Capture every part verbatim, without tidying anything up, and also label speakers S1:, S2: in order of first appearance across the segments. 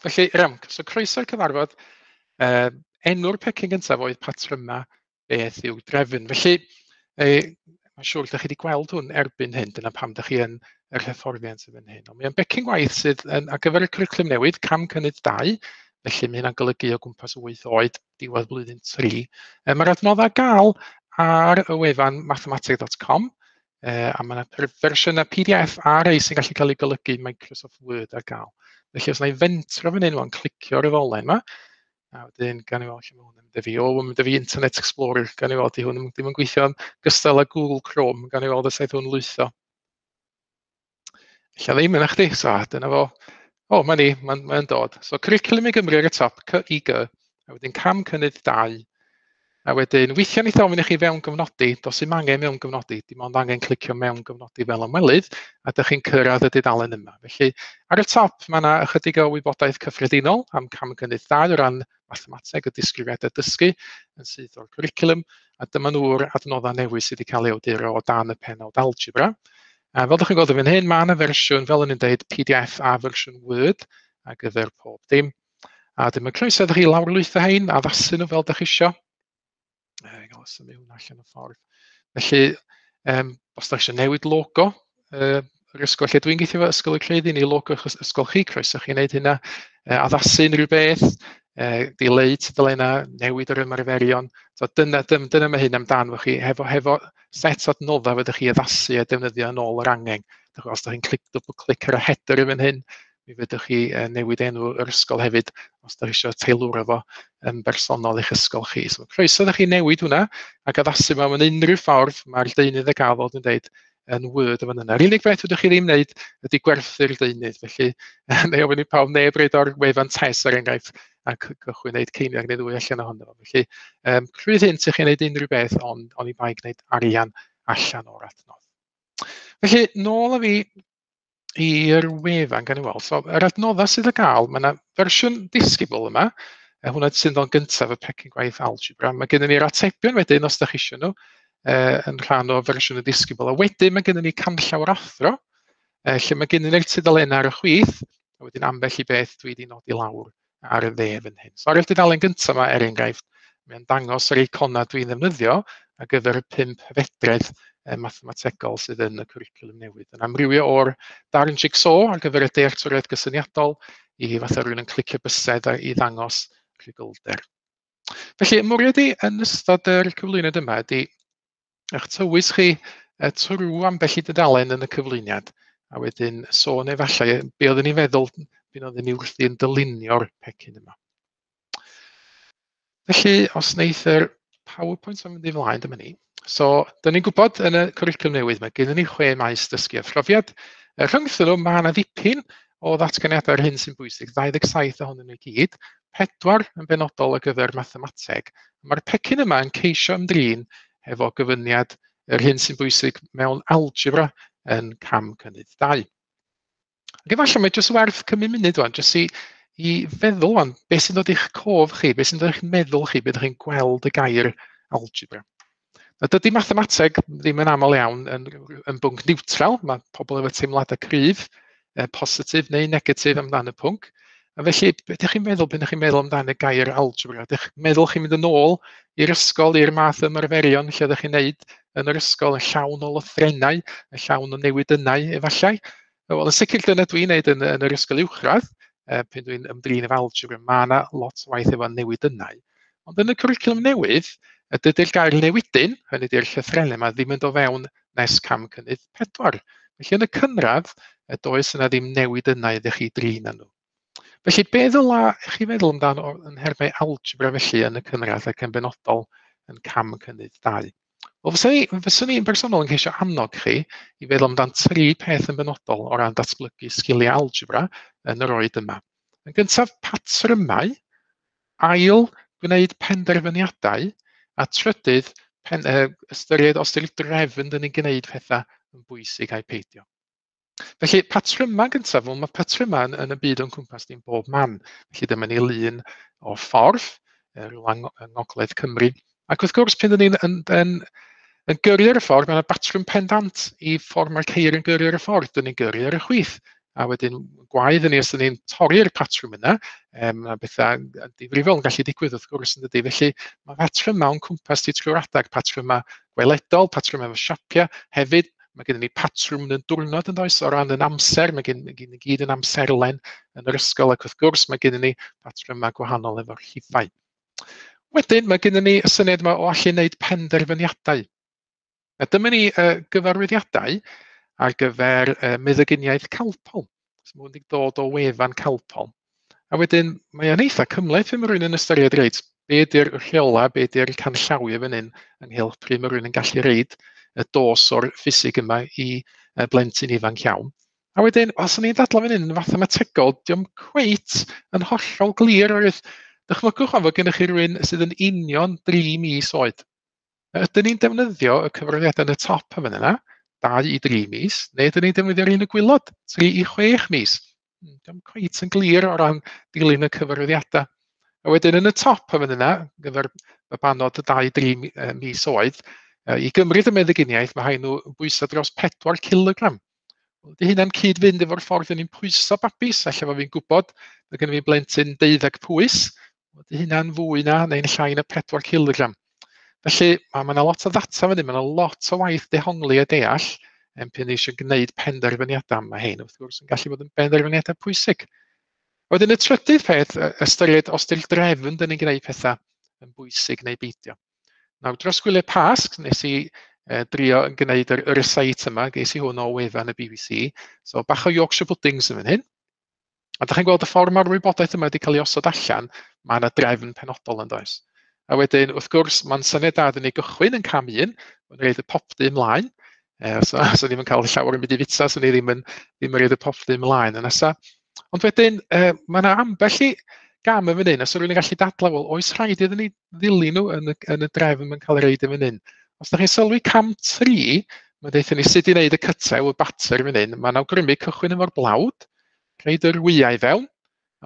S1: Felly, iawn, so croeso i'r cyfarfod. Uh, enw'r pecyn gyntaf oedd patryma beth yw'r drefn. Felly, eh, mae'n siŵr ydych chi wedi gweld hwn erbyn hyn, dyna pam ydych chi yn yr hyfforddiant yn fan hyn. Ond mae'n becyn gwaith sydd yn, ar gyfer y cwricwlwm newydd, cam cynnydd dau, felly mae hynna'n golygu o gwmpas wyth oed, diwedd blwyddyn tri. E, Mae'r adnoddau gael ar y wefan mathemateg dot com, e, a mae yna fersiynau P D F a rei sy'n gallu cael ei golygu Microsoft Word ar gael. Felly os wna i fentro fan hyn wan, clicio ar y ddolen yma, a wedyn gawn ni weld lle mae hwn yn mynd â fi. O, mae'n mynd â fi Internet Explorer, gawn ni weld di hwn ddim yn gweithio'n gystal â Google Chrome, gawn ni weld os eith hwn lwytho. Ella ddim yna chdi, so dyna fo. O, mae ni, mae'n mae dod. So Cwricwlwm i Gymru ar y top, C I G, a wedyn cam cynnydd dau. A wedyn, weithiau wneith ofyn i chi fewn gyfnodi, does dim angen mewn gyfnodi, dim ond angen clicio mewn gyfnodi fel ymwelydd, a dych chi'n cyrraedd y dudalen yma. Felly, ar y top, mae yna ychydig o wybodaeth cyffredinol am cam cynnydd dau o ran mathemateg, y disgrifiadau dysgu yn syth o'r cwricwlwm, a dyma nhw'r adnoddau newydd sydd wedi cael eu awduro o dan y pennawd algebra. A fel ydych chi'n gweld yn fan hyn, mae yna fersiwn, fel o'n i'n deud, P D F a fersiwn Word ar gyfer pob dim. A dyma croeso iddo chi lawrlwytho hein, addasu nhw fel ydych chi isio. E, gael symud hwnna allan o ffordd. Felly, um, os ydych chi eisiau newid logo, uh, yr ysgol lle dwi'n gweithio efo, Ysgol y Creuddyn, neu logo eich ysgol chi, croeso chi wneud hynna, uh, addasu unrhyw beth, uh, dileu tudalennau, newid yr ymarferion. So dyna, dyna, dyna mae hyn amdan fo chi, hefo, hefo set adnoddau fyddwch chi addasu a defnyddio yn ôl yr angen. Os ydych chi'n clic, double clic ar y header yn fan hyn, mi fedrwch chi newid enw yr ysgol hefyd, os ydych chi eisiau teilwra fo yn bersonol i'ch ysgol chi. So croeso ydych chi newid hwnna ac addasu mewn unrhyw ffordd, mae'r deunydd y gael fel dwi'n deud yn Word yn fan yna. Yr unig beth ydych chi ddim wneud ydy gwerthu'r deunydd, felly neu ofyn i pawb neb roid o'r wefan T E S er enghraifft a cychwyn wneud ceiniog neu ddwy allan ohono fo. Felly um, rhydd hyn i chi wneud unrhyw beth, ond oni bai gwneud arian allan o'r adnodd. Felly nôl â fi i'r wefan gan i weld. So, yr adnoddau sydd ar gael, mae yna fersiwn disgybl yma, a hwnna sy'n dod gyntaf y pecyn gwaith algebra. Mae gennym ni'r atebion wedyn, os ydych chi eisiau nhw, yn rhan o fersiwn y disgybl. A wedyn mae gennym ni canllaw'r athro, lle mae gennym ni'r tudalennau ar y chwith, a wedyn ambell i beth dwi wedi nodi lawr ar y dde fan hyn. So ar y dudalen gyntaf yma, er enghraifft, mae'n dangos yr eiconau dwi'n ddefnyddio ar gyfer y pump hyfedredd mathemategol sydd yn y cwricwlwm newydd. Yn amrywio o'r darn jigsaw ar gyfer y dealltwriaeth gysyniadol i fatha rhywun yn clicio bysedd i ddangos rhuglder. Felly, mwriad i yn ystod yr cyflwyniad yma ydy eich tywys chi trwy ambell i dudalen yn y cyflwyniad, a wedyn sôn efallai be oeddwn ni'n feddwl be oeddwn ni wrthi yn dylunio'r pecyn yma. Felly, os wneith yr PowerPoint yn mynd i flaen, dyma ni. So, dyn ni'n gwybod yn y cwricwlwm newydd, mae gennym ni chwe maes dysgu a phrofiad. Rhyngthyn nhw, mae yna ddipyn o ddatganiadau ar hyn sy'n bwysig, dau ddeg saith ohonyn nhw i gyd, pedwar yn benodol ar gyfer mathemateg. Mae'r pecyn yma yn ceisio ymdrin efo gyfyniad yr hyn sy'n bwysig mewn algebra yn cam cynnydd dau. Ac efallai mae jyst werth cymryd munud wan, jyst i, i feddwl wan, beth sy'n dod i'ch cof chi, beth sy'n dod i'ch meddwl chi, beth ydych chi'n gweld y gair algebra. Na, dydy mathemateg ddim yn aml iawn yn, yn bwnc niwtral, mae pobl efo teimladau cryf, eh, positif neu negatif amdan y pwnc. A felly, beth ydych chi'n meddwl pan ydych chi'n meddwl amdan y gair algebra? Ydych chi'n meddwl chi'n mynd yn ôl i'r ysgol, i'r math ymarferion lle ydych chi'n neud yn yr ysgol, yn llawn o lythrennau, yn llawn o newidynnau efallai? Wel, yn sicr dyna dwi'n neud yn, yn yr ysgol uwchradd, eh, pan dwi'n ymdrin efo algebra, mae yna lot o waith efo newidynnau. Ond yn y cwricwlwm newydd, dydy'r gair newidyn, hynny ydy'r llythrennau yma, ddim yn dod fewn nes cam cynnydd pedwar. Felly yn y cynradd, does yna ddim newidynnau ydych chi drin â nhw. Felly be ddyla chi feddwl amdano yn nhermau algebra felly yn y cynradd ac yn benodol yn cam cynnydd dau? Wel, fyswn i, fyswn i'n bersonol yn ceisio annog chi i feddwl amdan tri peth yn benodol o ran datblygu sgiliau algebra yn yr oed yma. Yn gyntaf, patrymau, ail, gwneud penderfyniadau, a trydydd, pen, uh, ystyried os ydy'r drefn dyn ni'n gwneud pethau yn bwysig a'i peidio. Felly, patrymau gyntaf, wel, mae patrymau yn, yn y byd o'n cwmpas ni'n bob man. Felly dyma ni lun o ffordd, rhywle yng Ngogledd Cymru. Ac wrth gwrs, pan dyn ni'n yn, yn, yn gyrru ar y ffordd, mae yna batrwm pendant i ffordd mae'r ceir yn gyrru ar y ffordd. Dyn ni'n gyrru ar y chwith, A wedyn gwaedd ni os ydyn ni'n torri'r patrwm yna, um, a bethau difrifol yn gallu digwydd wrth gwrs yn dydy. Felly mae patrymau o'n cwmpas ti trwy'r adag, patrymau gweledol, patrymau efo siapiau. Hefyd mae gennym ni patrwm yn y diwrnod yn does, o ran yn amser, mae gen ni gyd yn amserlen yn yr ysgol, ac wrth gwrs mae gennym ni patrymau gwahanol efo'r rhifau. Wedyn mae gennym ni y syniad yma o allu wneud penderfyniadau. A dyma ni uh, gyfarwyddiadau ar gyfer uh, meddyginiaeth Calpol. So, mae wedi dod o wefan Calpol. A wedyn mae o'n eitha cymhleth pan mae rhywun yn ystyried, reit, be ydy'r rheola, be ydy'r canllawiau fan hyn ynghylch pryd mae rhywun yn gallu reid y dos o'r ffisig yma i blentyn ifanc iawn. A wedyn, os o'n i'n dadlau fan hyn yn fathemategol, dio'm cweit yn hollol glir oherwydd dychmygwch fod gennych chi rhywun sydd yn union dri mis oed. Ydyn ni'n defnyddio y cyfarwyddiadau yn y top yn fan yna, dau i dri mis, neu ydyn ni'n defnyddio'r un y gwaelod, tri i chwech mis? Dio'm cweit yn glir o ran dilyn y cyfarwyddiadau. A wedyn yn y top yn fan yna, gyfer babanod dau i dri mis oed, i gymryd y meddyginiaeth, mae rhaid nhw bwyso dros pedwar kilogram. Ydy hynna'n cyd-fynd efo'r ffordd ni'n pwyso babis, ella fod fi'n gwybod, mae gen i fi blentyn deuddeg pwys, ydy hynna'n fwy na neu'n llai na pedwar kilogram. Felly mae yna lot o ddata fan hyn, mae yna lot o waith dehongli a deall, yn pan eisiau gwneud penderfyniadau. Mae hyn wrth gwrs yn gallu bod yn benderfyniadau pwysig. Wedyn y trydydd peth, ystyried os di'r drefn dyn ni'n gwneud pethau yn bwysig neu beidio. Nawr, dros gwyliau Pasg, nes i eh, drio yn gwneud yr, yr recite yma, ges i hwn o wefan y B B C. So bach o Yorkshire puddings yn fan hyn. A dach chi'n gweld y ffordd mae'r wybodaeth yma wedi cael ei osod allan, mae yna drefn penodol yn does. A wedyn, wrth gwrs, mae'n syniad da dyn ni gychwyn yn cam un, mae'n rhaid y popty ymlaen. E, so, so ddim yn cael llawer yn mynd i fita, so ni ddim yn, ddim yn rhaid y popty ymlaen yn nesa. Ond wedyn, e, mae yna ambell i gam yn fan hyn, a so rhywun yn gallu dadlau, wel, oes rhaid iddyn ni ddilyn nhw yn y, yn y drefn mae'n cael ei reid yn fan hyn. Os ydych chi'n sylwi cam tri, mae'n deutha ni sut i wneud y cytew, y batter fan hyn, mae'n awgrymu cychwyn efo'r blawd, rhaid yr wyau fewn,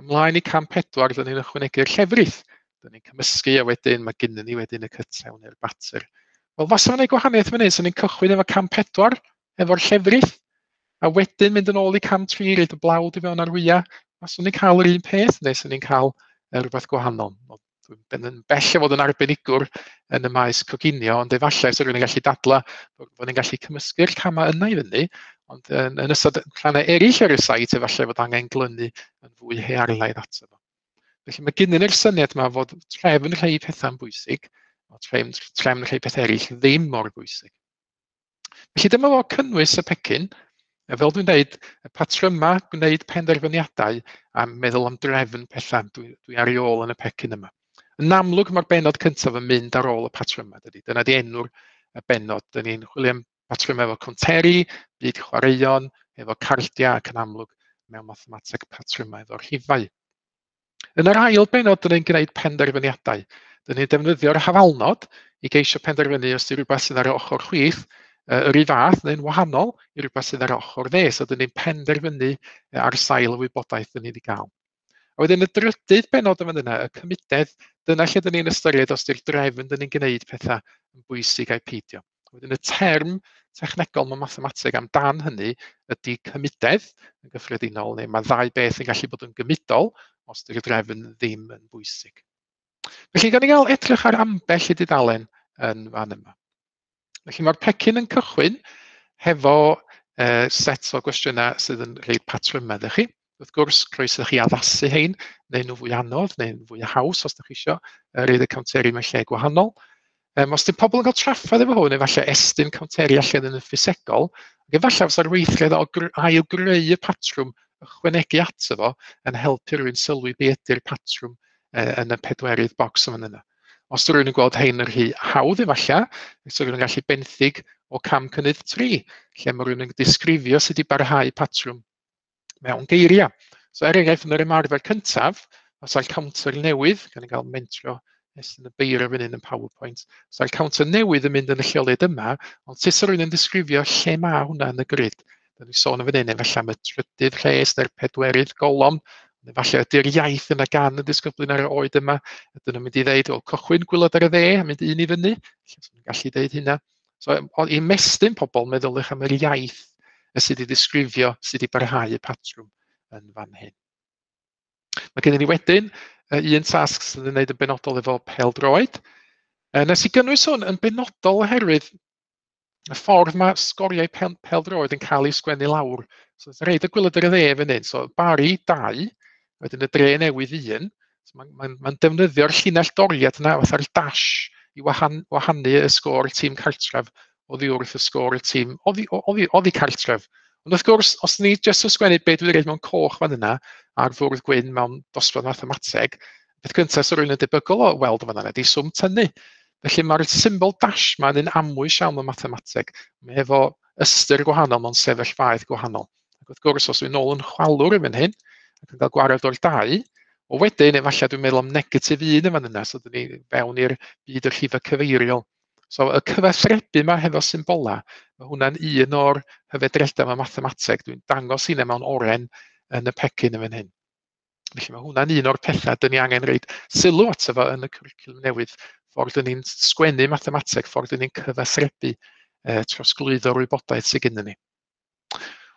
S1: ymlaen i cam pedwar, dyn ni'n ychwanegu'r llefrith. Dyn ni'n cymysgu a wedyn mae gynnon ni wedyn y cytew neu'r batter. Wel, fasa fo'n gwneud gwahaniaeth fan hyn, so ni'n cychwyn efo cam pedwar, efo'r llefrith, a wedyn mynd yn ôl i cam tri, rhaid y blawd i fewn ar wyau. Faswn ni'n cael yr un peth, neu swn ni'n cael rhywbeth gwahanol. Dwi'n yn bell o fod yn arbenigwr yn y maes coginio, ond efallai os rhywun yn gallu dadla bod ni'n gallu cymysgu'r camau yna i fyny, ond yn, yn ystod rhannau eraill ar y site, efallai fod angen glynu yn fwy hearlaidd ato fo. Felly mae gennyn ni'r syniad yma fod trefn rhai pethau'n bwysig, a trefn, trefn rhai pethau eraill ddim mor bwysig. Felly dyma fo cynnwys y pecyn. A fel dwi'n dweud, y patrymau gwneud penderfyniadau a meddwl am drefn pethau, dwi, dwi ar ei ôl yn y pecyn yma. Yn amlwg mae'r bennod cyntaf yn mynd ar ôl y patrymau, dydy. Dyna di enw'r y bennod. Dyn ni'n chwilio am patrymau efo conteri, byd chwaraeon, efo cardiau ac yn amlwg mewn mathemateg patrymau efo'r rhifau. Yn yr ail bennod, dyn ni'n gwneud penderfyniadau. Dyn ni'n defnyddio'r hafalnod i geisio penderfynu os di rhywbeth sydd ar y ochr chwith, yr un fath neu'n wahanol i rhywbeth sydd ar ochr dde. So dyn ni'n penderfynu ar sail y wybodaeth dyn ni wedi gael. A wedyn y drydydd bennod yn fan yna, y cymudedd, dyna lle dyn ni'n ystyried os di'r drefn dyn ni'n gwneud pethau yn bwysig ai peidio. Wedyn y term technegol mewn mathemateg amdan hynny ydy cymudedd yn gyffredinol, neu mae ddau beth yn gallu bod yn gymudol os di'r drefn ddim yn bwysig. Felly, gan i gael edrych ar ambell i dudalen yn fan yma. Felly mae'r pecyn yn cychwyn hefo uh, set o gwestiynau sydd yn rhoi patrymau iddo chi. Wrth gwrs, croeso chi addasu hein, neu nhw fwy anodd, neu fwy haws os ydych chi isio, rhaid y counteri mewn lle gwahanol. Um, os ydy pobl yn cael trafferth efo hwn, efallai estyn counteri allan yn y ffisegol, ac efallai fysa'r weithred o ail-greu y patrwm ychwanegu ato fo yn helpu rhywun sylwi be ydy'r patrwm uh, yn y pedwerydd bocs yn fan yna. Os ydy rhywun yn gweld hein yn rhy hawdd efallai, os rhywun yn gallu benthyg o cam cynnydd tri, lle mae rhywun yn disgrifio sut i barhau patrwm mewn geiriau. So er enghraifft, yn yr ymarfer cyntaf, os yw'r counter newydd, gan i gael mentro estyn y beiro fan hyn yn PowerPoint, os yw'r counter newydd yn mynd yn y lleoliad yma, ond sut rhywun yn disgrifio lle mae hwnna yn y grid? Da ni sôn yn fan hyn, efallai am y trydydd rhes neu'r pedwerydd golofn, efallai ydy'r iaith yna gan y disgyblion ar y oed yma, ydyn nhw'n mynd i ddeud, wel, cychwyn gwylod ar y dde, a mynd un i fyny, lle nhw'n gallu deud hynna. So, i ymestyn pobl, meddyliwch am yr iaith y sydd i ddisgrifio, sydd i barhau y patrwm yn fan hyn. Mae gennym ni wedyn un tasg sydd yn gwneud yn benodol efo pêl-droed. Nes i gynnwys hwn yn benodol oherwydd y ffordd mae sgoriau pêl-droed yn cael eu sgwennu lawr. So, reit y gwaelod ar y dde fan hyn. So, Barry dau, wedyn y Dre Newydd un. So, mae'n mae, mae defnyddio'r llinell doriad yna fatha'r dash i wahan, wahanu y sgôr tîm cartref oddi wrth y sgôr y tîm oddi, oddi, oddi cartref. Ond wrth gwrs, os ni jyst yn sgwennu beth dwi'n reid mewn coch fan yna ar fwrdd gwyn mewn dosbarth mathemateg, beth gyntaf sy'n rhywun yn debygol o weld fan yna ydy swm tynnu. Felly mae'r symbol dash yma yn un amwys iawn mewn mathemateg. Mae efo ystyr gwahanol mewn sefyllfaoedd gwahanol. Ac wrth gwrs, os dwi'n nôl yn chwalwr yn fan hyn, ac yn cael gwared o'r dau, o wedyn, efallai dwi'n meddwl am negatif un yn fan yna, so dyn ni fewn i'r byd y rhifau cyfeiriol. So y cyfathrebu yma hefo symbolau, mae hwnna'n un o'r hyfedredau mewn mathemateg. Dwi'n dangos hynna mewn oren yn y pecyn yn fan hyn. Felly mae hwnna'n un o'r pethau dyn ni angen rhoid sylw ato fo yn y cwricwlwm newydd. Ffordd dyn ni'n sgwennu mathemateg, ffordd dyn ni'n cyfathrebu eh, trosglwyddo'r wybodaeth sydd gennym ni.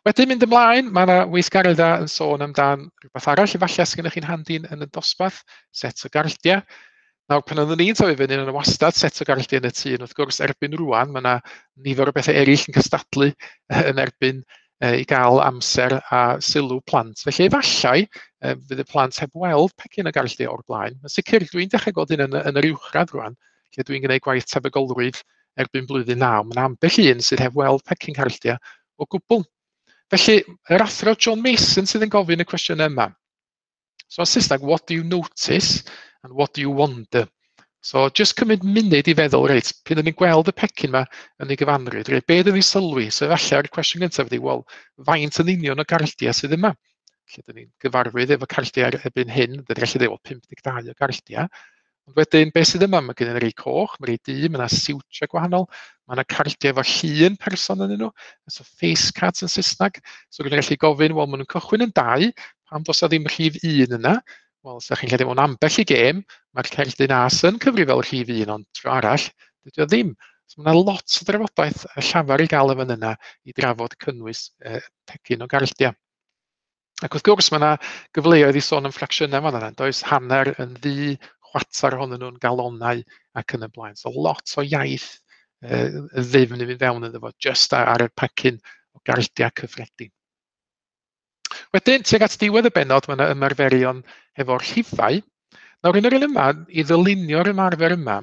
S1: Wedyn mynd ymlaen, mae yna weithgareddau yn sôn amdan rhywbeth arall, efallai sydd gennych chi'n handi yn y dosbarth, set o gardiau. Nawr, pan oeddwn i'n tyfu fyny yn y wastad set o gardiau yn y tŷ, wrth gwrs, erbyn rwan, mae yna nifer o bethau eraill yn cystadlu yn erbyn i gael amser a sylw plant. Felly efallai fydd y plant heb weld pecyn o gardiau o'r blaen. Yn sicr, dwi'n dechrau gweld hyn yn, yn yr uwchradd rwan, lle dwi'n gwneud gwaith tebygolrwydd erbyn blwyddyn naw. Mae yna ambell un sydd heb weld pecyn cardiau o gwbl. Felly, yr athro John Mason sydd yn gofyn y cwestiwn yma. So, yn Saesneg, what do you notice and what do you wonder? So, just cymryd munud i feddwl, reit, pryd ni'n gweld y pecyn yma yn ei gyfanrwydd, reit, be dyn ni'n sylwi? So, efallai'r cwestiwn gyntaf ydy, wel, faint yn union o gardiau sydd yma? Lle dyn ni'n gyfarwydd efo cardiau erbyn hyn, dyn ni'n gallu dweud, wel, pump deg dau o gardiau. Ond wedyn, beth sydd yma? Mae gen i rei coch, mae rei du, mae yna siwtiau gwahanol, mae yna cardiau efo llun person yn nhw, so face cards yn Saesneg. So dwi'n gallu gofyn, wel, maen nhw'n cychwyn yn dau, pam does 'na ddim rhif un yna? Wel, os ydych chi'n credu mewn ambell i gêm, mae'r cerdyn as yn cyfri fel rhif un, ond tro arall, dydy o ddim. So mae yna lot o drafodaeth llafar i gael yn fan yna i drafod cynnwys eh, pecyn o gardiau. Ac wrth gwrs, mae yna gyfleoedd i sôn am ffracsiynau fan yna, does hanner yn ddu, chwarter ohonyn nhw'n galonau ac yn y blaen. So lot o iaith uh, ddyfn i fynd fewn iddo fo, just ar, ar y pecyn o gardiau cyffredin. Wedyn, tuag at diwedd y bennod, mae yna ymarferion hefo'r rhifau. Nawr, yn yr un yma, i ddylunio'r ymarfer yma,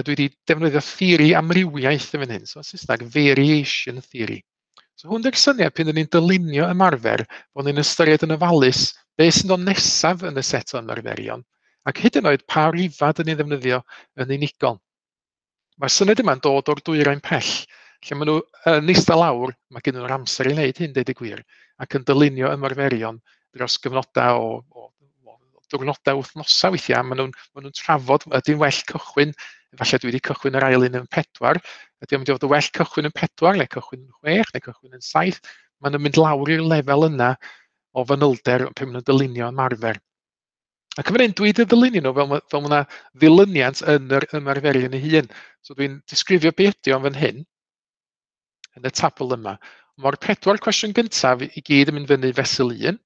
S1: dwi wedi defnyddio theori amrywiaeth yn fan hyn, so yn Saesneg, variation theory. So hwn ydy'r syniad pan ni'n dylunio ymarfer, bod ni'n ystyried yn ofalus beth sy'n dod nesaf yn y set o ymarferion, ac hyd yn oed pa rifau dyn ni'n ddefnyddio yn unigol. Mae'r syniad yma'n dod o'r dwyrain pell, lle maen nhw yn eistedd lawr, mae gen nhw'r amser i wneud hyn, deud y gwir, ac yn dylunio ymarferion dros gyfnodau o, o, o diwrnodau, wythnosau weithiau, maen nhw'n maen nhw trafod, ydy'n well cychwyn, efallai dwi wedi cychwyn yr ail un yn pedwar, ydy o'n mynd i fod yn well cychwyn yn pedwar, neu cychwyn yn chwech, neu cychwyn yn saith, maen nhw'n mynd lawr i'r lefel yna o fanylder pan maen nhw'n dylunio ymarfer. Ac yn fan hyn, dwi wedi dylunio nhw fel, fel mae yna ddilyniant yn yr ymarferion ei hun. So dwi'n disgrifio be ydy o'n fan hyn, yn y tabl yma. Mae'r pedwar cwestiwn gyntaf i gyd yn mynd fyny fesul un,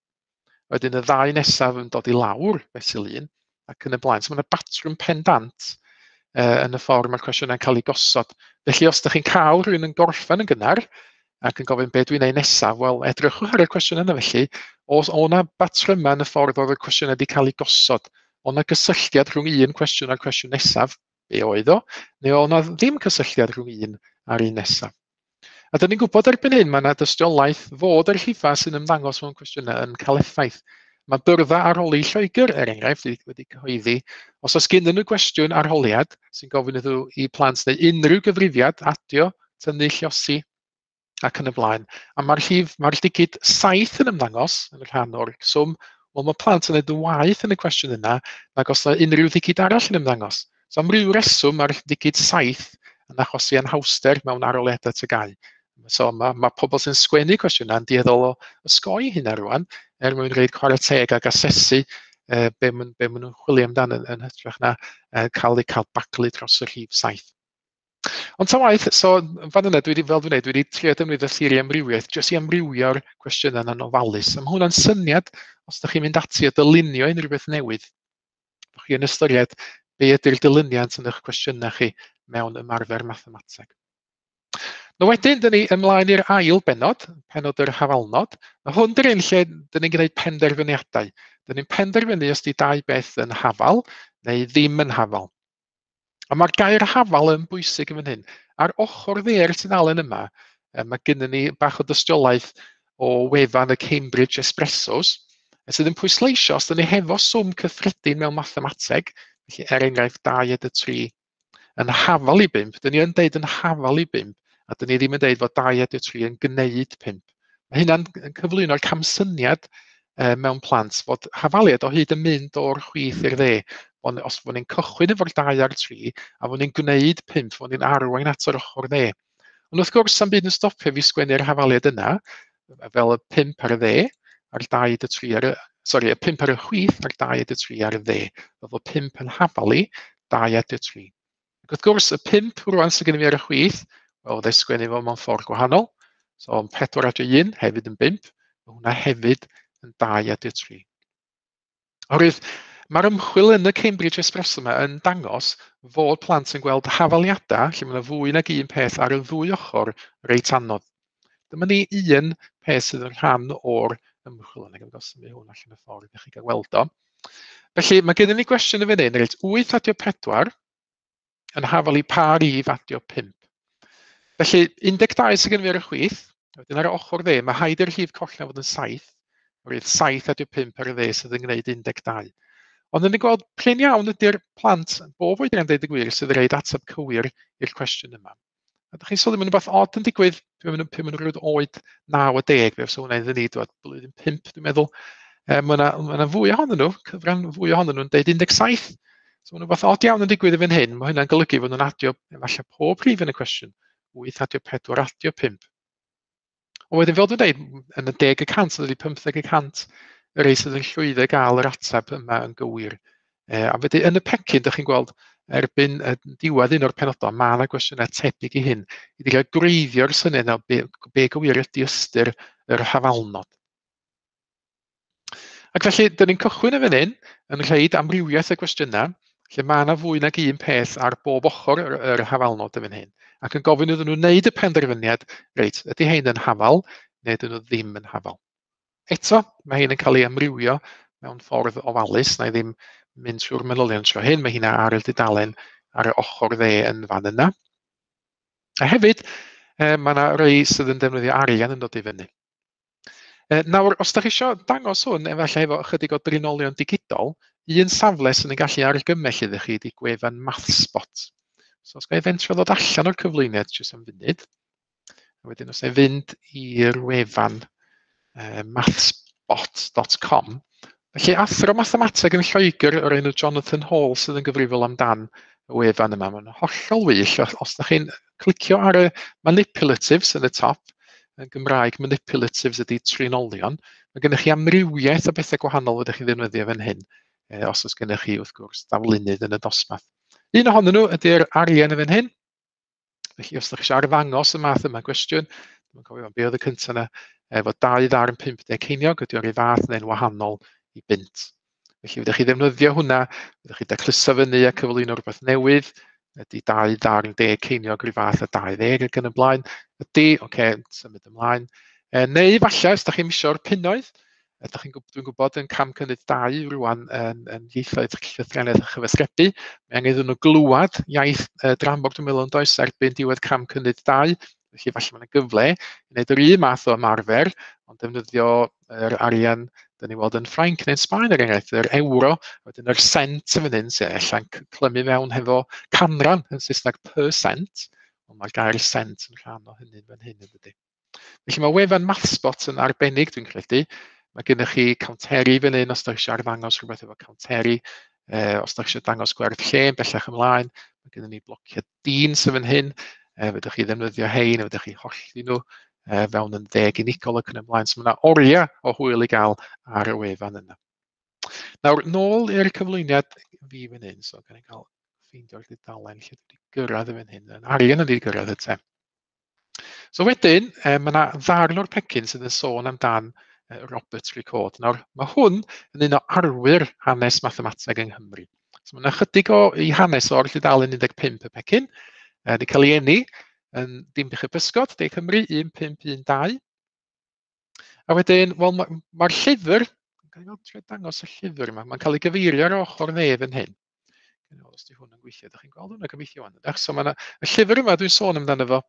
S1: wedyn y ddau nesaf yn dod i lawr fesul un, ac yn y blaen. So mae yna batrwm pendant uh, yn y ffordd mae'r cwestiynau'n cael eu gosod. Felly os ydych chi'n cael rhywun yn gorffen yn gynnar, ac yn gofyn be dwi'n ei nesaf, wel, edrychwch ar y cwestiwn yna felly, os o na batrymau yn y ffordd oedd y cwestiynau wedi cael eu gosod, o na gysylltiad rhwng un cwestiwn a'r cwestiwn nesaf, be oedd o, neu o na ddim cysylltiad rhwng un a'r un nesaf. A dyn ni'n gwybod erbyn hyn, mae yna dystiolaeth fod yr rhifau sy'n ymddangos mewn cwestiynau yn cael effaith. Mae byrddau arholi Lloegr, er enghraifft, wedi cyhoeddi, os oes gennyn nhw gwestiwn arholiad sy'n gofyn iddyn nhw i plant neu unrhyw gyfrifiad, adio, tynnu, lluosi, ac yn y blaen. A mae'r rhif, mae'r digid saith yn ymddangos yn y rhan o'r swm, wel mae plant yn neud yn waeth yn y cwestiwn yna nag os yna unrhyw ddigid arall yn ymddangos. So am ryw reswm mae'r digid saith yn achosi anhawster mewn arholiadau T G A U. So mae, mae pobl sy'n sgwennu cwestiynau yn dueddol o osgoi hynna rwan, er mwyn rhoid chwarae teg ac asesu eh, be maen be maen nhw'n chwilio amdano yn, yn hytrach na eh, cael eu cael baglu dros y rhif saith. Ond ta waeth, so fan yna, dwi wedi, fel dwi'n dweud, dwi wedi trio defnyddio theori amrywiaeth jyst i amrywio'r cwestiynau yna'n ofalus. A mae hwnna'n syniad, os ydych chi'n mynd ati a dylunio unrhyw beth newydd, bod chi'n ystyried be ydy'r dilyniant yn eich cwestiynau chi mewn ymarfer mathemateg. No wedyn, dyn ni ymlaen i'r ail bennod, pennod yr hafalnod. Mae hwn dy'r un lle dyn ni'n gwneud penderfyniadau. Dyn ni'n penderfynu os di dau beth yn hafal neu ddim yn hafal. A mae'r gair hafal yn bwysig yn fan hyn. Ar ochr dde'r tudalen yma, mae gennym ni bach o dystiolaeth o wefan y Cambridge Espressos, sydd yn pwysleisio os dyn ni hefo swm cyffredin mewn mathemateg, felly er enghraifft dau adio tri, yn hafal i bump, dyn ni yn deud yn hafal i bump, a dyn ni ddim yn deud fod dau adio tri yn gwneud pump. Mae hynna'n cyflwyno'r camsyniad mewn plant fod hafaliad o hyd yn mynd o'r chwith i'r dde. Ond os fod ni'n cychwyn efo'r dau a'r tri, a fod ni'n gwneud pump, fod ni'n arwain at yr ochr dde. Ond wrth gwrs, sa'm byd yn stopio fi sgwennu'r hafaliad yna, fel y pump ar y dde, a'r dau adio tri ar y, sori, y pump ar y chwith, a'r dau adio tri ar y dde. Fel fod pump yn hafal i, dau adio tri. Ac wrth gwrs, y pump rwan sydd gennym fi ar y chwith, wel, fydda i sgwennu fo mewn ffordd gwahanol. So, pedwar adio un hefyd yn bump, mae hwnna hefyd yn dau adio tri. Oherwydd, mae'r ymchwil yn y Cambridge Espresso yma yn dangos fod plant yn gweld hafaliadau lle mae yna fwy nag un peth ar y ddwy ochr reit anodd. Dyma ni un peth sydd yn rhan o'r ymchwil yna. Gawn symud hwn allan y ffordd i chi gael gweld o. Felly, mae gennym ni gwestiwn yn fan hyn, reit, wyth adio pedwar yn hafal i pa rif adio pump. Felly, un deg dau sydd gennym fi ar y chwith, wedyn ar y ochr dde, mae haid i'r rhif coll na fod yn saith, oherwydd saith adio pump ar y dde sydd yn gwneud un deg dau. Ond yn gweld prin iawn ydy'r plant, bob oedran deud y gwir, sydd yn rhoid ateb cywir i'r cwestiwn yma. A ydych chi'n sylwi, mae'n rhywbeth od yn digwydd, pan maen nhw'n rhywbeth oed naw a deg, fe fysa hwnna iddyn ni, dwad, blwyddyn pump, dwi'n meddwl. E, mae yna, ma yna fwy ohonyn nhw, cyfran fwy ohonyn nhw'n deud un deg saith. So mae'n rhywbeth od iawn yn digwydd i fan hyn. Mae hynna'n golygu fod nhw'n adio efallai pob rhif yn y cwestiwn. wyth adio pedwar adio pump. Ond wedyn, fel dwi'n dweud, yn y deg y cant, ydy pymtheg y cant y rei sydd yn llwyddo i gael yr ateb yma yn gywir. E, a wedyn yn y pecyn, dych chi'n gweld erbyn diwedd un o'r penodau, mae yna gwestiynau tebyg i hyn, i ddechrau gwreiddio'r syniad yna be, be gywir ydy ystyr yr hafalnod. Ac felly, dyn ni'n cychwyn yn fan hyn, yn rhaid amrywiaeth y gwestiynau, lle mae yna fwy nag un peth ar bob ochr yr, yr hafalnod yn fan hyn, ac yn gofyn iddyn nhw wneud y penderfyniad, reit, ydy hein yn hafal, neu ydyn nhw ddim yn hafal. Eto, mae hein yn cael ei amrywio mewn ffordd ofalus, na i ddim mynd trwy'r manylion tro hyn, mae hynna ar y dudalen ar y ochr dde yn fan yna. A hefyd, eh, mae yna rei sydd yn defnyddio arian yn dod i fyny. Eh, nawr, os da chi eisiau dangos hwn, efallai efo ychydig o drinolion digidol, un safle sydd yn gallu argymell iddo chi ydy gwefan MathSpot. So, os ga i fentro ddod allan o'r cyflwyniad jyst am funud, a wedyn os na i fynd i'r wefan uh, mathspot dot com. Felly, athro mathemateg yn Lloegr o'r enw Jonathan Hall sydd yn gyfrifol amdan y wefan yma. Mae'n hollol wych. Os ydych chi'n clicio ar y manipulatives yn y top, yn Gymraeg manipulatives ydy trinolion, mae gennych chi amrywiaeth o bethau gwahanol ydych chi'n ddefnyddio fan hyn, os oes gennych chi, wrth gwrs, daflunydd yn y dosbarth. Un ohonyn nhw ydy'r arian yn fan hyn. Felly, os ydych chi eisiau arddangos y math yma gwestiwn, dwi'n cofio be oedd y cyntaf yna, efo dau ddarn pump deg ceiniog, ydy o'r un fath neu'n wahanol i bunt. Felly, fydych chi ddefnyddio hwnna, fydych chi dacluso fyny a cyflwyno rhywbeth newydd, ydy dau ddarn deg ceiniog rhyw fath a dau ddeg ac yn y blaen, ydy, oce, okay, symud ymlaen. E, neu falle, os ydych chi'n misio'r punnoedd, ydych chi'n dwi'n gwybod yn cam cynnydd dau rwan yn, yn ieithoedd llythrennedd a chyfathrebu, mae angen iddyn nhw glywed iaith eh, dramor, dwi'n meddwl, yn does, erbyn diwedd cam cynnydd dau, felly falle mae yna gyfle i wneud yr un math o ymarfer, ond defnyddio yr arian dyn ni weld yn Ffrainc neu'n Sbaen er enghraifft, yr euro, wedyn yr cent yn fan hyn, sy'n ella'n clymu mewn hefo canran yn Saesneg percent, ond mae'r gair cent yn rhan o hynny fan hyn yn dydy. Felly mae wefan MathSpot yn arbennig, dwi'n credu. Mae gennych chi counteri fan hyn os ydych chi eisiau arddangos rhywbeth efo counteri, eh, os ydych chi eisiau dangos gwerth lle yn bellach ymlaen, mae gennym ni blociau dyn sydd fan hyn, eh, fedrwch chi ddefnyddio hein, fedrwch chi hollti nhw eh, fewn yn ddeg unigol ac yn ymlaen. So mae yna oriau o hwyl i gael ar y wefan yna. Nawr, nôl i'r cyflwyniad fi fan hyn, so gan i gael ffeindio'r dudalen lle dwi wedi gyrraedd yn fan hyn. Yn arian wedi gyrraedd y te. So wedyn, eh, mae yna ddarn o'r pecyn sydd yn sôn amdan Robert Recorde. Nawr, mae hwn yn un o arwyr hanes mathemateg yng Nghymru. So mae yna chydig o i hanes o'r tudalen un deg pump y pecyn. E, wedi cael ei eni yn Dinbych y Pysgod, De Cymru, un pump un dau. A wedyn, wel, mae'r ma llyfr, gael ei dangos y llyfr yma, mae'n cael ei gyfeirio ar ochr dde fan hyn. Os di hwn yn gweithio, ydych chi'n gweld hwnna gobeithio wan. So mae yna, y llyfr yma dwi'n sôn amdano fo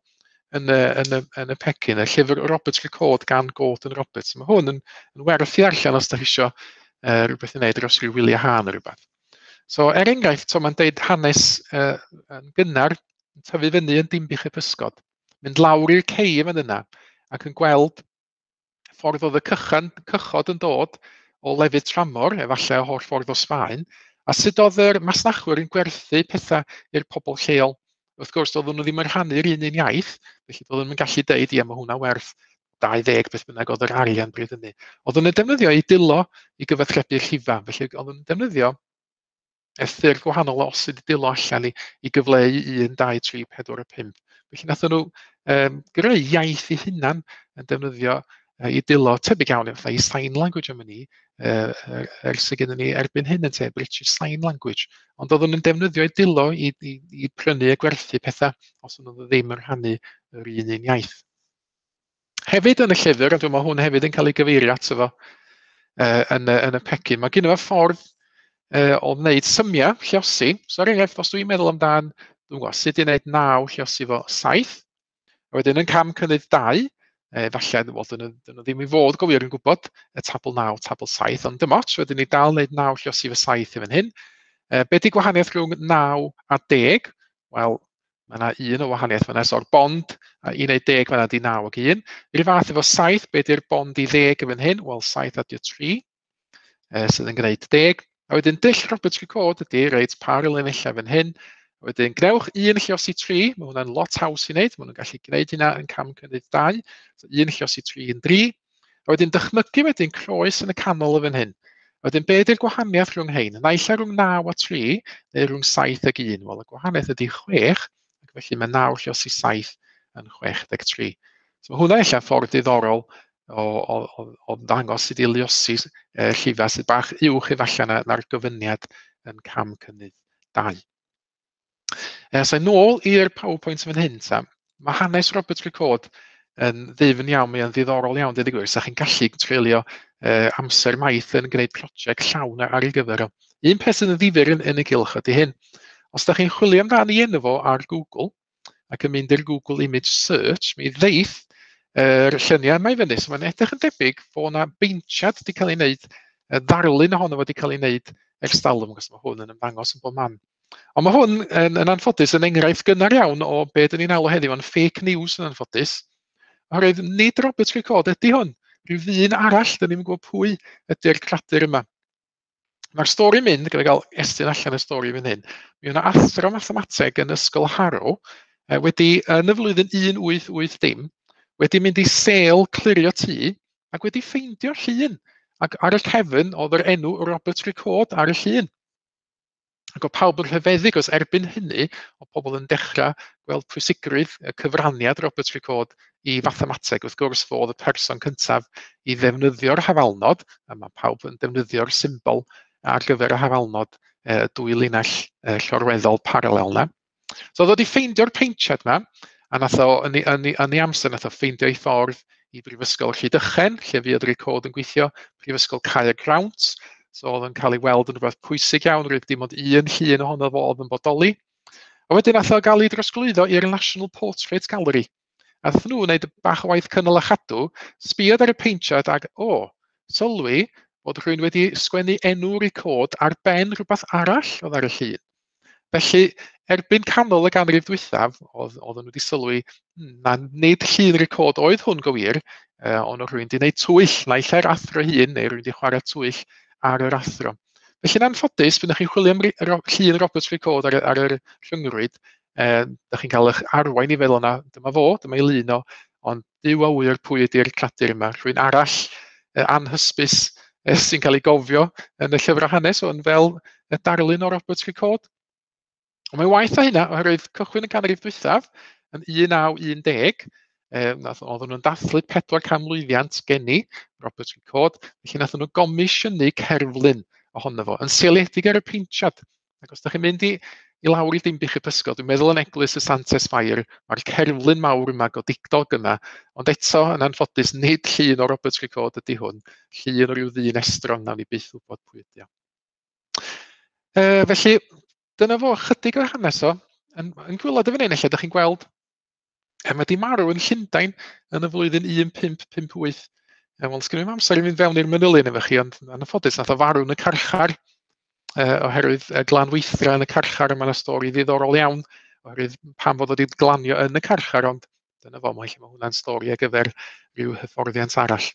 S1: yn y, yn y, yn y pecyn, y llyfr Robert Recorde gan Gordon Roberts. Mae hwn yn, yn werth i darllen os ydych chi isio uh, rhywbeth i wneud dros ryw wyliau haf neu rhywbeth. So er enghraifft, so mae'n deud hanes uh, yn gynnar, yn tyfu fyny yn Dinbych y Pysgod, mynd lawr i'r cei fan yna ac yn gweld ffordd oedd y cychan, cychod yn dod o lefydd tramor, efallai o holl ffordd o Sbaen, a sut oedd yr masnachwyr yn gwerthu pethau i'r pobl lleol. Wrth gwrs, doedden nhw ddim yn rhannu'r un un iaith, felly doedden nhw'n gallu deud, ie, mae hwnna werth dau ddeg beth bynnag oedd yr arian bryd hynny. Oedden nhw'n defnyddio eu dwylo i gyfathrebu'r llifa, felly oedden nhw'n defnyddio y ffyrdd gwahanol o osod eu dwylo allan i, i gyfleu un, dau, tri, pedwar a pump. Felly nathon nhw um, greu iaith eu hunan yn defnyddio uh, eu dwylo, tebyg iawn fatha i sign language am ni, uh, ers y gennym ni erbyn hyn yn te, British Sign Language. Ond oedden nhw'n defnyddio eu dwylo i, i, i prynu a gwerthu pethau os oedden nhw ddim yn rhannu yr un un iaith. Hefyd yn y llyfr, a dwi'n meddwl hwn hefyd yn cael ei gyfeirio ato fo uh, yn, y, yn y pecyn, mae gen i fo ffordd uh, o wneud symiau lluosi. So er enghraifft, os dwi'n meddwl amdan, dwi'n gwybod, sut i wneud naw lluosi fo saith, a wedyn yn cam cynnydd dau, e, falle, wel, dyn nhw, dyn nhw ddim i fod go wir yn gwybod y tabl naw, tabl saith, ond dim ots, wedyn ni dal wneud naw lluosi fo saith i fan hyn. E, be di gwahaniaeth rhwng naw a deg? Wel, mae yna un o wahaniaeth fan'na, so'r bond a i wneud deg fan'na di naw ac un. I'r fath efo saith, be di'r bond i ddeg yn fan hyn? Wel, saith adio tri, e, sydd yn gwneud deg. A wedyn dull Robert Recorde ydy, reit, par y linellau fan hyn. A wedyn gnewch un lluosi tri, mae hwnna'n lot haws i wneud, maen nhw'n gallu gwneud hynna yn cam cynnydd dau. So un lluosi tri yn dri. A wedyn dychmygu wedyn croes yn y canol o fan hyn. A wedyn be ydy'r gwahaniaeth rhwng hein? Naill ai rhwng naw a tri, neu rhwng saith ag un. Wel, y gwahaniaeth ydy chwech, ac felly mae naw lluosi saith yn chwech deg tri. So mae hwnna ella ffordd diddorol o, o, o, o ddangos sut i luosi eh, llifau sydd bach uwch efallai na, na'r gofyniad yn cam cynnydd dau. E, so nôl i'r PowerPoint fan hyn, ta. Mae hanes Robert Recorde yn ddyfn iawn, mae'n ddiddorol iawn, dweud y gwir. Sa chi'n gallu treulio eh, amser maith yn gwneud prosiect llawn ar ei gyfer o. Un peth sydd yn ddifyr yn, yn y gylch ydy hyn. Os da chi'n chwilio amdano enw fo ar Google ac yn mynd i'r Google Image Search, mi ddeith yr lluniau yma i fyny. So mae'n edrych yn debyg fod yna beintiad wedi cael ei wneud, y ddarlun ohono fo wedi cael ei wneud ers talwm, achos mae hwn yn ymddangos yn bob man. Ond mae hwn yn, yn anffodus yn enghraifft gynnar iawn o be dyn ni'n alw heddiw yn fake news yn anffodus. Oherwydd nid Robert Recorde ydy hwn, rhyw ddyn arall, dyn ni'm yn gwybod pwy ydy'r cradur yma. Mae'r stori mynd, gyda gael estyn allan y stori fan hyn, mi yna athro mathemateg yn Ysgol Harrow wedi, yn y flwyddyn un wyth wyth dim, wedi mynd i sêl clirio tŷ ac wedi ffeindio'r llun. Ac ar y cefn oedd yr enw Robert Recorde ar y llun. Ac oedd pawb yn rhyfeddu, achos erbyn hynny, oedd pobl yn dechrau gweld pwysigrwydd y cyfraniad Robert Recorde i fathemateg. Wrth gwrs, fo oedd y person cyntaf i ddefnyddio'r hafalnod, a mae pawb yn defnyddio'r symbol ar gyfer y hafalnod, e, dwy linell e, llorweddol paralel na. So oedd wedi ffeindio'r peintiad yma, a nath o, yn ei, yn ei, yn ei amser, nath o ffeindio ei ffordd i Brifysgol Rhydychen, lle fuodd Recorde yn gweithio, Prifysgol Caergrawnt. So oedd yn cael ei weld yn rhywbeth pwysig iawn, roedd dim ond un llun ohono fo oedd yn bodoli. A wedyn nath o gael ei drosglwyddo i'r National Portrait Gallery. A nath nhw wneud bach o waith cynnal a chadw, sbiodd ar y peintiad ac, o, sylwi bod rhywun wedi sgwennu enw Recorde ar ben rhywbeth arall oedd ar y llun. Felly, erbyn canol y ganrif dwythaf, oedd, oedden nhw wedi sylwi, na nid llun Recorde oedd hwn go wir, eh, ond oedd rhywun wedi gwneud twyll, naill ai'r athro hun, neu rhywun wedi chwarae twyll ar yr athro. Felly'n anffodus, pan ydych chi'n chwilio am llun Robert Recorde ar, ar yr rhyngrwyd, eh, ydych chi'n cael eich arwain i feddwl na, dyma fo, dyma ei lun o, ond Duw a ŵyr pwy ydy'r cradur yma, rhywun arall eh, anhysbys eh, sy'n cael ei gofio yn y llyfrau hanes, ond fel y darlun o Robert Recorde. Ond mae'n waeth na hynna, oherwydd cychwyn y ganrif dwythaf yn un naw un deg, eh, nath, oedden nhw'n dathlu pedwar canmlwyddiant geni Robert Recorde, felly nath nhw gomisiynu cerflun ohono fo, yn seiliedig ar y peintiad. Ac os ydych chi'n mynd i, i lawr i Dinbych y Pysgod, dwi'n meddwl yn Eglwys y Santes Fair, mae'r cerflun mawr yma, godidog yma, ond eto, yn anffodus, nid llun o Robert Recorde ydy hwn, llun o ryw ddyn estron, nawn ni byth wybod pwy ydy o. E, felly, dyna fo chydig o'r hanes o. Yn, yn gwaelod y fan hyn, ella, ydych chi'n gweld, e, mae di marw yn Llundain yn y flwyddyn un pump pump wyth. E, wel, sgynno i'm amser i fynd fewn i'r manylion efo chi, ond yn anffodus, nath o farw yn y carchar, e, oherwydd e, glanweithdra yn y carchar, a mae yna stori ddiddorol iawn, oherwydd pam fod o wedi glanio yn y carchar, ond dyna fo, mae ma hwnna'n stori ar gyfer rhyw hyfforddiant arall.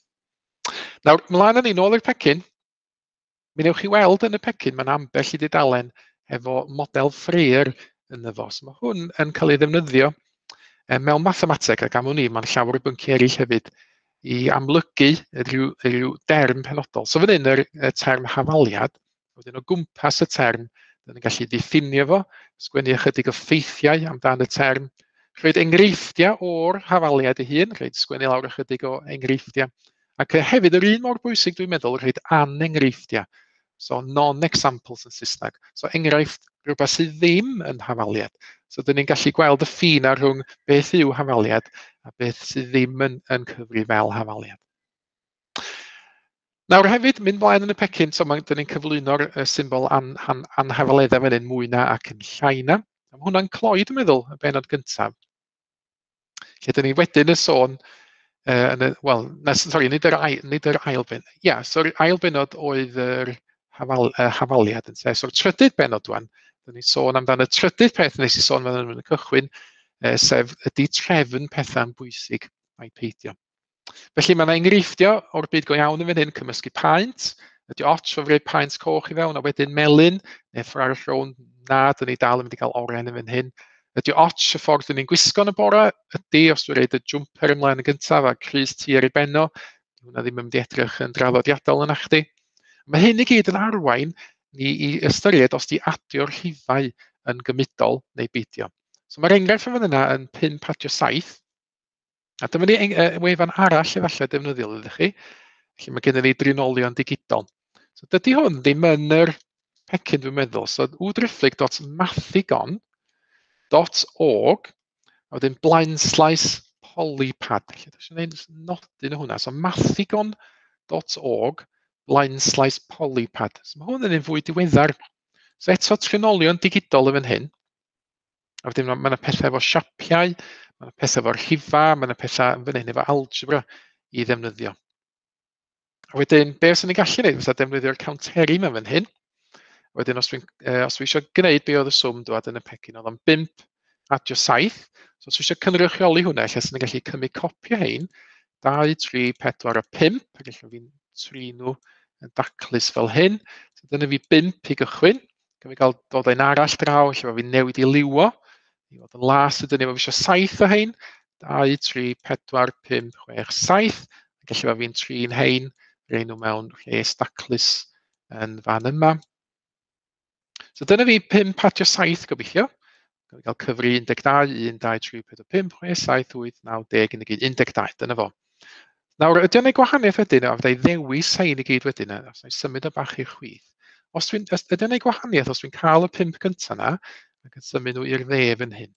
S1: Nawr, mlaen â ni nôl i'r pecyn. Mi newch chi weld yn y pecyn, mae'n ambell i dudalen efo model Freer yn y fo. So mae hwn yn cael ei ddefnyddio mewn mathemateg, ac am wn i, mae'n llawer o bynciau eraill hefyd, i amlygu rhyw, rhyw derm penodol. So fan hyn yr, y term hafaliad, wedyn o gwmpas y term, dyn ni'n gallu diffinio fo, sgwennu ychydig o ffeithiau amdan y term, rhoid enghreifftiau o'r hafaliad ei hun, rhoid sgwennu lawr ychydig o enghreifftiau, ac hefyd yr un mor bwysig dwi'n meddwl, rhoid anenghreifftiau. So non-examples yn Saesneg. So enghraifft rhywbeth sydd ddim yn hafaliad. So dyn ni'n gallu gweld y ffin ar rhwng beth yw hafaliad a beth sydd ddim yn, yn cyfri fel hafaliad. Nawr hefyd, mynd mlaen yn y pecyn, so mae, dyn ni'n cyflwyno'r symbol an, an, anhafaleddau fan hyn, mwy na ac yn llai na. A mae hwnna'n cloi, dwi'n meddwl, y bennod gyntaf. Lle dyn ni wedyn y sôn, uh, yn y, wel, na, sorry, nid yr, ail, nid yr ail benod. Ia, yeah, so'r ail benod oedd yr hafal, uh, hafaliad yn te. So'r trydydd benod wan, dyn ni'n sôn amdan y trydydd peth nes i sôn amdano yn y cychwyn, uh, sef ydy trefn pethau'n bwysig a'i peidio. Felly mae yna enghreifftiau o'r byd go iawn yn fan hyn, cymysgu paent, ydy ots o roi paent coch i fewn, a wedyn melyn, neu ffordd arall rownd, na, dyn ni dal yn mynd i gael oren yn fan hyn. Ydy ots y ffordd dyn ni'n gwisgo yn y bore, ydy os dwi'n rhoid y jumper ymlaen yn gyntaf a crys T ar ei benno, hwnna ddim yn mynd i edrych yn draddodiadol yna chdi. Mae hyn i gyd yn arwain ni i ystyried os di adio'r rhifau yn gymudol neu beidio. So mae'r enghraifft yn fan yna yn pump adio saith. A dyma ni wefan arall efallai defnyddiol ydych chi. Felly mae gennym ni drinolion digidol. So dydy hwn ddim yn yr pecyn dwi'n meddwl. So w driphlyg dot mathigon dot org a wedyn blaenslaes polypad. Felly dwi eisiau gwneud nodyn o hwnna. So mathigon dot org blaenslaes polypad. So mae hwn yn un fwy diweddar. So eto trinolion digidol yn fan hyn. A wedyn mae yna pethau efo siapiau, mae yna pethau efo'r rhifa, mae yna pethau yn fan hyn efo algebra i ddefnyddio. A wedyn, be os ni'n gallu gwneud fysa defnyddio'r counteri yma fan hyn. Wedyn, os dwi'n eh, os dwi eisiau gwneud be oedd y swm dwad yn y pecyn, oedd o'n bump adio saith. So os dwi eisiau cynrychioli hwnna, lle sy'n gallu cymryd copi o hein, dau, tri, pedwar a pump, ac ella fi'n trin nhw yn daclus fel hyn. So dyna fi bump i gychwyn. Gymryd gael dod ein arall draw, lle fi'n newid i liwo. I fod yn las ydyn ni, mae fi eisiau saith o hein. dau, tri, pedwar, pump, chwech, saith. Ac ella fi'n trin hein, rhoi nhw mewn rhes daclus yn fan yma. So dyna fi pump adio saith gobeithio. Gawn ni gael cyfri un deg dau, un, dau, tri, pedwar, pump, chwech, saith, wyth, naw, deg, un deg un, un deg dau, dyna fo. Nawr, ydy o'n ei gwahaniaeth wedyn, a fydda i ddewis hein i gyd wedyn, os na i symud o bach i'r chwith. Os dwi'n, ydy o'n ei gwahaniaeth, os dwi'n cael y pump gyntaf yna, ac yn symud nhw i'r dde fan hyn.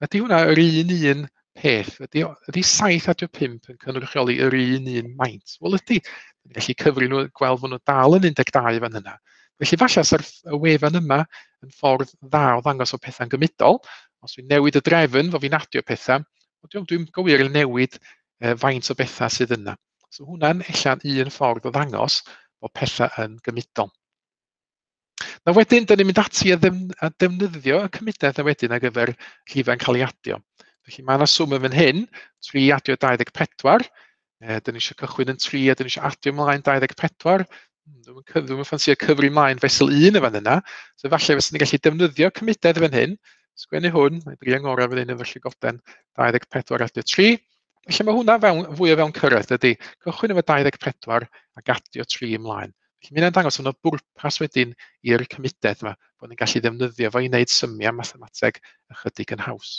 S1: Ydy hwnna yr un un peth? Ydy, ydy saith adio pump yn cynrychioli yr un un maint? Wel ydy, ni'n gallu cyfri nhw, gweld fod nhw dal yn un deg dau fan hynna. Felly falle sa'r y wefan yma yn ffordd dda o ddangos o pethau'n gymudol. Os dwi'n newid y drefn, fo fi'n adio pethau, dwi'n dwi gywir yn newid eh, faint o bethau sydd yna. So hwnna'n ella'n un ffordd o ddangos bod pethau yn gymudol. Na wedyn, dyn ni'n mynd ati a, ddefn, a defnyddio y cymudedd na wedyn ar gyfer rhifau'n cael ei adio. Felly mae yna swm yn fan hyn, tri adio dau ddeg pedwar. E, dyn ni eisiau cychwyn yn tri a dyn ni eisiau adio ymlaen dau ddeg pedwar. Dwi'm yn ffansio cyfri ymlaen fesul un yn fan yna. So falle fysen ni'n gallu defnyddio cymudedd fan hyn. Sgwennu hwn, mae'n drio ngorau fan hyn efo'r llygoden, dau ddeg pedwar adio tri. Felly mae hwnna fewn, fwy o fewn cyrraedd ydy. Cychwyn efo dau ddeg pedwar ac adio tri ymlaen. Felly mae hynna'n dangos fod yna bwrpas wedyn i'r cymudedd yma, bod ni'n gallu ddefnyddio fo i wneud symiau mathemateg ychydig yn haws.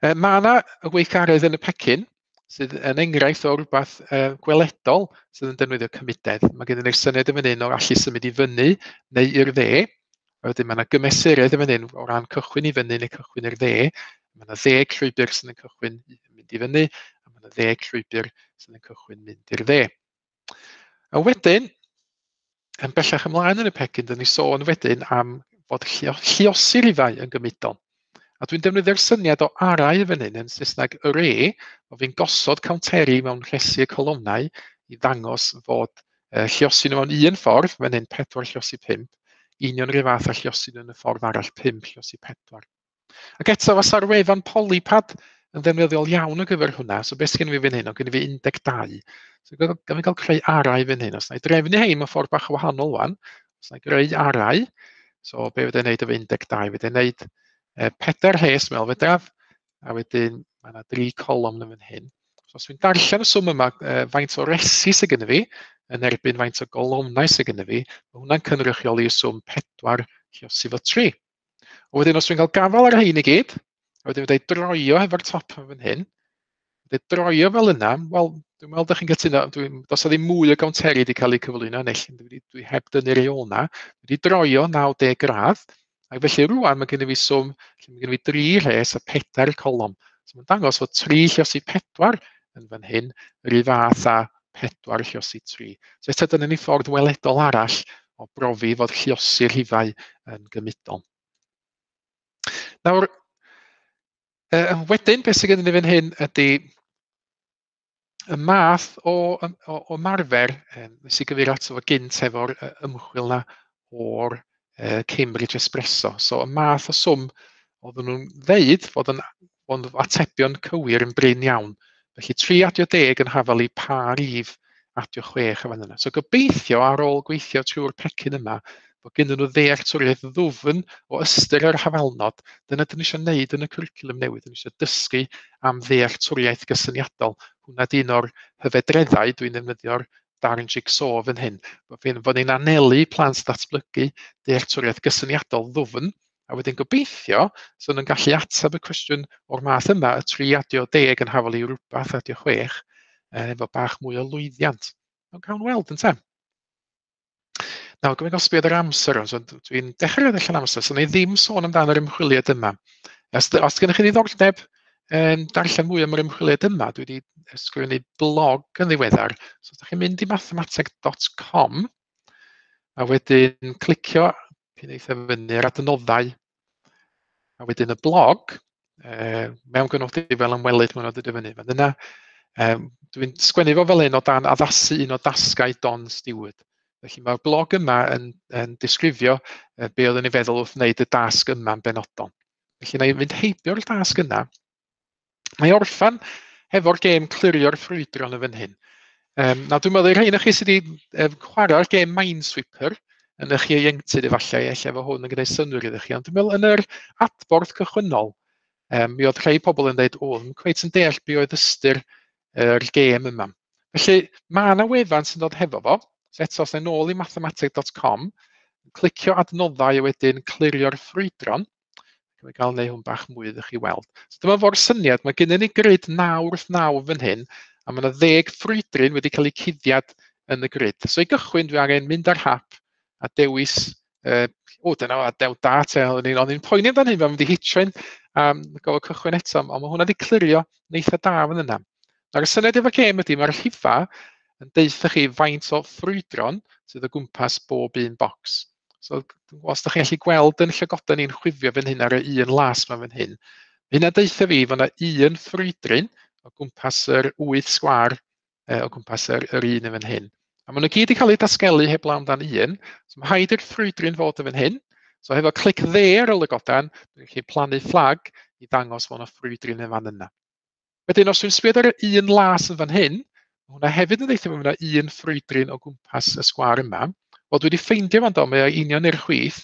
S1: E, mae yna y weithgaredd yn y pecyn sydd yn enghraifft o rywbeth uh, gweledol sydd yn defnyddio cymudedd. Mae gennym ni'r syniad yn fan hyn o allu symud i fyny neu i'r dde. A wedyn mae yna gymesuredd yn fan hyn o ran cychwyn i fyny neu cychwyn i'r dde. Mae yna ddeg llwybr sydd yn cychwyn mynd i fyny, a mae yna ddeg llwybr sydd yn cychwyn mynd i'r dde. A wedyn, yn bellach ymlaen yn y pecyn, dyn ni sôn wedyn am fod lluosi rhifau yn gymudol. A dwi'n defnyddio'r syniad o arau fan hyn yn Saesneg array, o fi'n gosod counteri mewn rhesi y colofnau i ddangos fod uh, lluosi nhw mewn un ffordd, fan hyn pedwar lluosi pump, union rhyw fath â lluosi nhw yn y ffordd arall pump lluosi pedwar. Ac eto, fasa'r wefan Polypad yn ddefnyddiol iawn ar gyfer hwnna. So beth sgen i fi fan hyn? O, gen i fi un deg dau. So gan fi gael creu arau fan hyn. Os na i drefnu hein mewn ffordd bach wahanol wan, os na i greu arau, so be fydda i'n neud efo un deg dau? Fydda i'n neud eh, pedair rhes mewn fedraf, a wedyn mae yna dri colofn yn fan hyn. So os dwi'n darllen y swm yma, eh, faint o resi sydd gennym fi, yn erbyn faint o golofnau sydd gennym fi, mae hwnna'n cynrychioli y swm pedwar lluosi fo tri. A wedyn os dwi'n cael gafael ar rhein i gyd, a wedyn fydda i droio hefo'r top yn fan hyn, fydda i droio fel yna, wel, dwi'n meddwl dych chi'n cytuno, dwi'n, does 'na ddim mwy o gownteri wedi cael eu cyflwyno, neu dwi, dwi heb dynnu rei ôl na, dwi wedi droio naw deg gradd, ac felly rŵan mae gennym fi swm, lle mae gennym fi dri rhes a pedair colofn. So mae'n dangos fod tri lluosi pedwar yn fan hyn, yr un fath â pedwar lluosi tri. So eto dyna ni ffordd weledol arall o brofi fod lluosi'r rhifau yn gymudol. Nawr, Uh, wedyn, beth sydd gennym ni fan hyn ydy y math o, o, o ymarfer um, nes i gyfeirio ato fo gynt efo'r uh, ymchwil na o'r uh, Cambridge Espresso. So y math o swm oedden nhw'n ddeud fod yn, fod yn atebion cywir yn brin iawn. Felly tri adio deg yn hafal i pa rif adio chwech yn fan yna. So gobeithio ar ôl gweithio trwy'r pecyn yma, bod gen nhw ddealltwriaeth ddwfn o ystyr yr hafalnod. Dyna dyn ni eisiau gwneud yn y cwricwlwm newydd. Dyn ni eisiau dysgu am ddealltwriaeth gysyniadol. Hwnna di un o'r hyfedreddau dwi'n defnyddio'r darn jigsaw fan hyn. Bod ni'n anelu plant ddatblygu dealltwriaeth gysyniadol ddwfn, a wedyn gobeithio so nhw'n gallu ateb y cwestiwn o'r math yma, y tri adio deg yn hafal i rhywbeth adio chwech, efo bach mwy o lwyddiant. Ond cawn weld ynte. Nawr, gwybod gael sbio ar yr amser, so dwi'n dechrau allan amser, so na i ddim sôn amdano yr ymchwiliad yma. Os, os gennych chi ddiddordeb um, darllen mwy am yr ymchwiliad yma, dwi wedi ysgrifennu blog yn ddiweddar. So, os ydych chi'n mynd i mathemateg dot com, a wedyn clicio pyn eitha fyny ar adnoddau, a wedyn y blog, uh, mewn gynodi fel ymwelydd, mae'n dod i fyny fan yna. Um, dwi'n sgwennu fo fel un o dan addasu un o dasgau Don Stewart. Felly mae'r blog yma yn, yn disgrifio be oeddwn i'n feddwl wrth wneud y dasg yma'n benodol. Felly na i fynd heibio'r dasg yna. Mae orffan hefo'r gêm clirio'r ffrwydron yn fan hyn. Um, nawr dwi'n meddwl i'r rhain o chi sydd wedi um, chwarae'r gêm Minesweeper yn eich ieuenctid efallai, ella efo hwn yn gwneud synnwyr iddo chi, ond dwi'n meddwl yn yr adborth cychwynnol, um, mi oedd rhai pobl yn dweud, o, ddim cweit yn deall be oedd ystyr yr gêm yma. Felly mae yna wefan sy'n dod hefo fo. So eto, os na nôl i mathemateg dot com, clicio adnoddau a wedyn clirio'r ffrwydron. Dwi'n gael neu hwn bach mwy iddo chi weld. So dyma fo'r syniad, mae gennym ni grid naw wrth naw fan hyn, a mae yna ddeg ffrwydryn wedi cael eu cuddiad yn y grid. So i gychwyn, dwi angen mynd ar hap a dewis, uh, o dyna, a dew da te, o'n i'n, o'n i'n poeni amdano hyn, mae'n mynd i hitio hyn, um, gofod cychwyn eto, ond mae hwnna wedi clirio yn eitha da fan yna. Nawr y syniad efo'r gêm ydy, mae'r rhifa yn deutha chi faint o ffrwydron sydd o gwmpas bob un bocs. So os ydych chi'n gallu gweld yn llygoden ni'n chwifio fan hyn ar y un las ma fan hyn, hynna deutha fi fod yna un ffrwydryn o gwmpas yr wyth sgwâr o gwmpas yr, yr un yn fan hyn. A maen nhw gyd wedi cael eu dasgelu heblaw amdan un, so mae rhaid i'r ffrwydryn fod yn fan hyn. So hefo clic dde ar y lygoden, dwi'n gallu plannu fflag i ddangos fod yna ffrwydryn yn fan yna. Wedyn, os dwi'n sbio ar y un las yn fan hyn, mae hwnna hefyd yn deutha fi fod yna un ffrwydryn o gwmpas y sgwâr yma. Wel, dwi wedi ffeindio fan do, mae o union i'r chwith.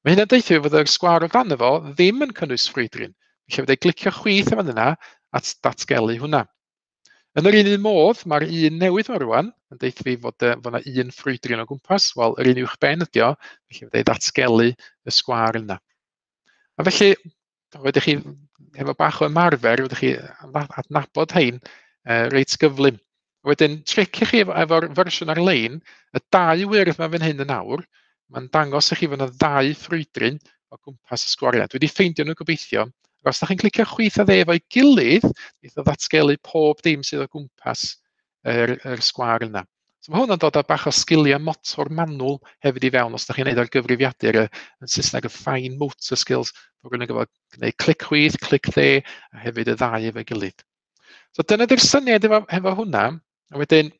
S1: Mae hynna'n deutha fi fod y sgwâr o dan efo ddim yn cynnwys ffrwydryn. Felly fydda i glicio chwith yn fan yna at datgelu hwnna. Yn yr un un modd, mae'r un newydd yma rwan yn deud fi fod, uh, fod yna un ffrwydryn o gwmpas. Wel, yr un uwch ben ydi o, felly fydda i ddatgelu y sgwâr yna. A felly, wedych chi, efo bach o ymarfer, wedych chi adnabod hein uh, reit gyflym. Wedyn, tric i chi efo'r efo fersiwn ar-lein, y dau wyrdd yma fan hyn yn awr, mae'n dangos i chi fod yna ddau ffrwydryn o gwmpas y sgwariau. Dwi wedi ffeindio nhw gobeithio. Ac os da chi'n clicio chwith a dde efo'i gilydd, neith o ddatgelu pob dim sydd o gwmpas yr, yr sgwâr yna. So mae hwn yn dod â bach o sgiliau motor manwl hefyd i fewn os da chi'n neud ar gyfrifiadur, yn Saesneg y fine motor skills, bod rhywun yn gwybod gwneud clic chwith, clic dde, a hefyd y ddau efo'i gilydd. So dyna di'r syniad efo, efo hwnna. A wedyn,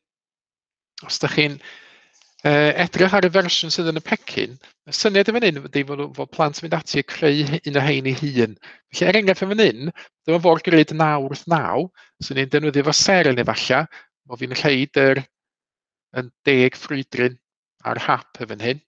S1: os da chi'n uh, edrych ar y fersiwn sydd yn y pecyn, y syniad yn fan hyn ydy fod, fod plant yn mynd ati i creu un o hein ei hun. Felly, er enghraifft yn fan hyn, dyma fo'r grid naw wrth naw, sy'n ni'n defnyddio fo seren efallai, bo fi'n rhaid yr yn deg ffrwydryn ar hap yn fan hyn.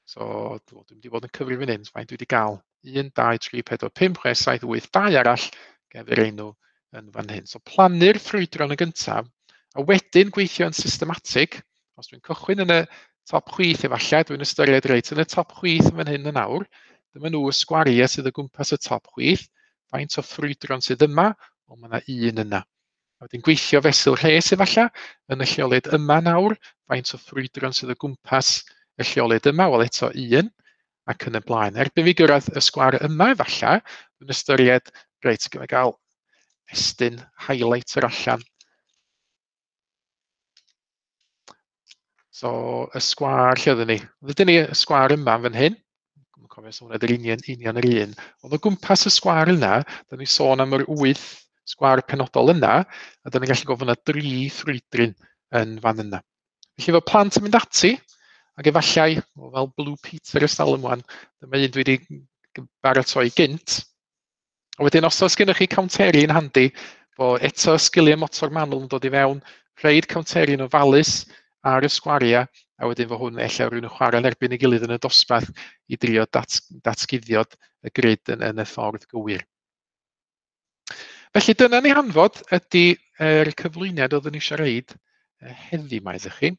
S1: So, dwi'n mynd i fod yn cyfri fan hyn, faint dwi wedi gael? un, dau, tri, pedwar, pump, chwech, saith, wyth, dau arall, gefyr enw yn fan hyn. So, plannu'r ffrwydron yn gyntaf, a wedyn gweithio yn systematig. Os dwi'n cychwyn yn y top chwith efallai, dwi'n ystyried reit yn y top chwith yn fan hyn yn awr, dyma nhw y sgwariau sydd o gwmpas y top chwith, faint o ffrwydron sydd yma, ond mae yna un yna. A wedyn gweithio fesul rhes efallai, yn y lleoliad yma nawr, faint o ffrwydron sydd o gwmpas y lleoliad yma, wel eto un, ac yn y blaen. Erbyn fi gyrraedd y sgwar yma efallai, dwi'n ystyried, reit, gyda gael estyn highlighter allan. So, y sgwâr lle oedden ni? Oedden ni y sgwâr yma fan hyn. Dwi'n cofio os hwnna ydy'r union, union yr un. Ond o gwmpas y sgwâr yna, da ni sôn am yr wyth sgwâr penodol yna, a da ni'n gallu gofyn yna dri ffrwydryn yn fan yna. Felly efo plant yn mynd ati, ac efallai, fel Blue Peter ers talwm wan, dyma un dwi wedi baratoi gynt. A wedyn, os oes gennych chi counteri yn handi, bo eto sgiliau motor manwl yn dod i fewn, rhaid counteri yn ofalus ar y sgwariau, a wedyn fo hwn ella rhywun yn chwarae yn erbyn ei gilydd yn y dosbarth i drio dat, datguddiod y grid yn, yn y ffordd gywir. Felly dyna ni hanfod ydy yr cyflwyniad oeddwn i eisiau reid heddi 'ma iddo chi.